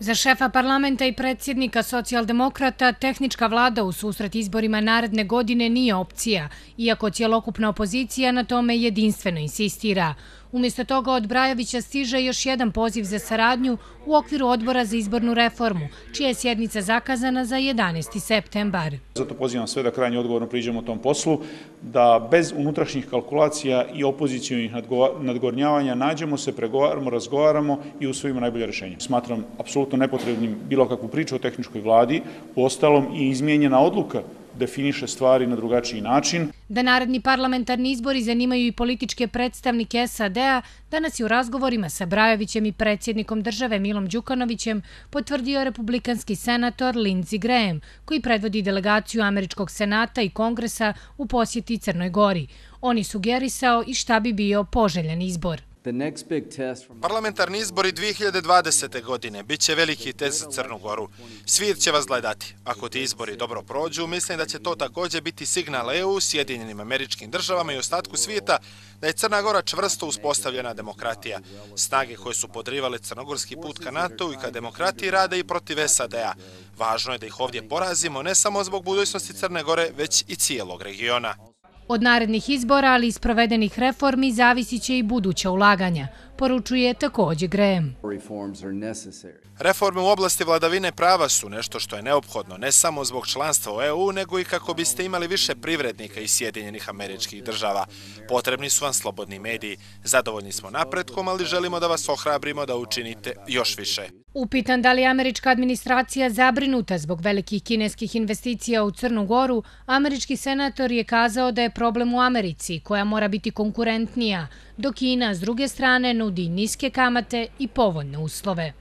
Za šefa parlamenta i predsjednika socijaldemokrata tehnička vlada u susret izborima naredne godine nije opcija, iako cjelokupna opozicija na tome jedinstveno insistira. Umjesto toga od Brajovića stiže još jedan poziv za saradnju u okviru odbora za izbornu reformu, čija je sjednica zakazana za 11. septembar. Zato pozivam sve da krajnje odgovorno priđemo tom poslu, da bez unutrašnjih kalkulacija i opozicionih nadgornjavanja nađemo se, pregovaramo, razgovaramo i usvojimo najbolje rješenje. Smatram apsolutno nepotrebnim bilo kakvu priču o tehničkoj vladi, uostalom i izmijenjena odluka definiše stvari na drugačiji način. Da naredni parlamentarni izbori zanimaju i političke predstavnike SAD-a, danas je u razgovorima sa Brajovićem i predsjednikom države Milom Đukanovićem potvrdio republikanski senator Lindsey Graham, koji predvodi delegaciju Američkog senata i kongresa u posjeti Crnoj Gori. On je sugerisao i šta bi bio poželjan izbor. Parlamentarni izbori 2020. godine bit će veliki test za Crnu Goru. Svijet će vas gledati. Ako ti izbori dobro prođu, mislim da će to također biti signal EU, Sjedinjenim Američkim Državama i ostatku svijeta da je Crna Gora čvrsto uspostavljena demokratija. Snage koje su podrivale crnogorski put ka NATO-u i ka demokratiji rade i protiv SAD-a. Važno je da ih ovdje porazimo ne samo zbog budućnosti Crne Gore, već i cijelog regiona. Od narednih izbora, ali i sprovedenih reformi, zavisit će i buduća ulaganja, poručuje također Graham. Reforme u oblasti vladavine prava su nešto što je neophodno ne samo zbog članstva u EU, nego i kako biste imali više privrednika iz Sjedinjenih Američkih Država. Potrebni su vam slobodni mediji. Zadovoljni smo napretkom, ali želimo da vas ohrabrimo da učinite još više. Upitan da li je američka administracija zabrinuta zbog velikih kineskih investicija u Crnu Goru, američki senator je kazao da je problem u Americi, koja mora biti konkurentnija, dok Kina s druge strane nudi niske kamate i povoljne uslove.